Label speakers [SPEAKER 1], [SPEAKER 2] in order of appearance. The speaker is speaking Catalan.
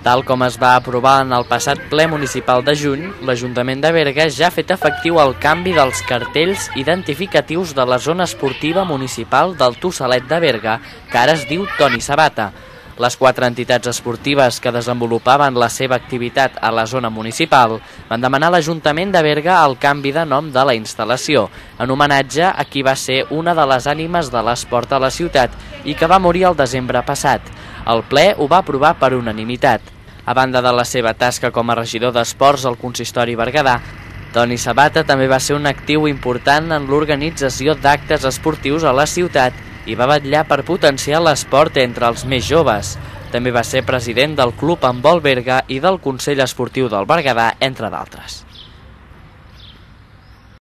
[SPEAKER 1] Tal com es va aprovar en el passat ple municipal de juny, l'Ajuntament de Berga ja ha fet efectiu el canvi dels cartells identificatius de la zona esportiva municipal del Tossalet de Berga, que ara es diu Toni Sabata. Les 4 entitats esportives que desenvolupaven la seva activitat a la zona municipal van demanar a l'Ajuntament de Berga el canvi de nom de la instal·lació, en homenatge a qui va ser una de les ànimes de l'esport a la ciutat i que va morir el desembre passat. El ple ho va aprovar per unanimitat. A banda de la seva tasca com a regidor d'esports al consistori berguedà, Toni Sabata també va ser un actiu important en l'organització d'actes esportius a la ciutat i va vetllar per potenciar l'esport entre els més joves. També va ser president del Club Handbol Berga i del Consell Esportiu del Berguedà, entre d'altres.